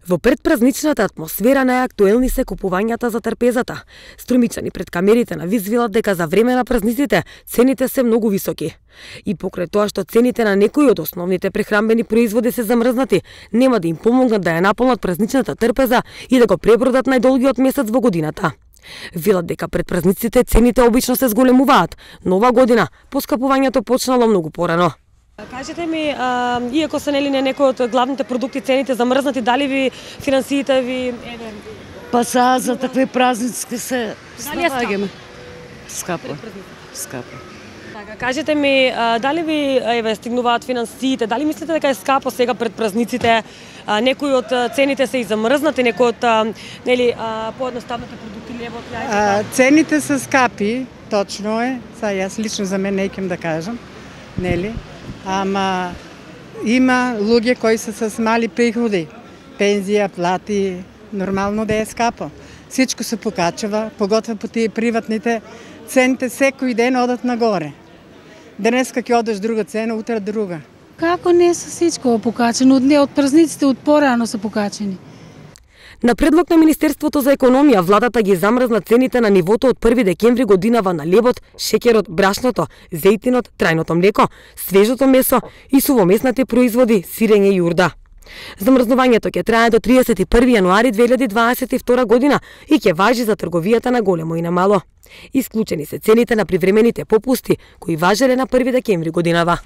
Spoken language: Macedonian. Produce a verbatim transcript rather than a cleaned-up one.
Во предпразничната атмосфера најактуелни се купувањата за трпезата. Струмичани пред камерите на Виз велат дека за време на празниците цените се многу високи. И покрај тоа што цените на некои од основните прехранбени производи се замрзнати, нема да им помогнат да ја наполнат празничната трпеза и да го пребродат најдолгиот месец во годината. Велат дека пред празниците цените обично се зголемуваат, но ова година поскапувањето почнало многу порано. Кажете ми, а, иако се нели не некои од главните продукти цените замрзнати, дали ви финансиите ви еве па са за такви празници се налагаме. Скапо. Скапо. Така, кажете ми, а, дали ви еве стигнуваат финансиите, дали мислите дека е скапо сега пред празниците? А, некои од цените се и замрзнати, некои од а, нели а, поедноставните продукти лебот, јајца. Цените се скапи, точно е. Са јас лично за мен не икем да кажам, нели? Ама има луѓе кои се с мали приходи, пензија, плати, нормално да е скапо. Всичко се покачува, поготово по тие приватните, цените секој ден одат нагоре. Денеска ќе одеш друга цена, утре друга. Како не се всичко покачено, од не од празниците од порано се покачени. На предлог на Министерството за економија, владата ги замрзна цените на нивото од први декември годинава на лебот, шеќерот, брашното, зејтинот, трајното млеко, свежото месо и сувомесните производи, сирење и јурда. Замрзнувањето ќе трае до триесет и први јануари две илјади дваесет и втора година и ќе важи за трговијата на големо и на мало. Исклучени се цените на привремените попусти кои важеле на први декември годинава.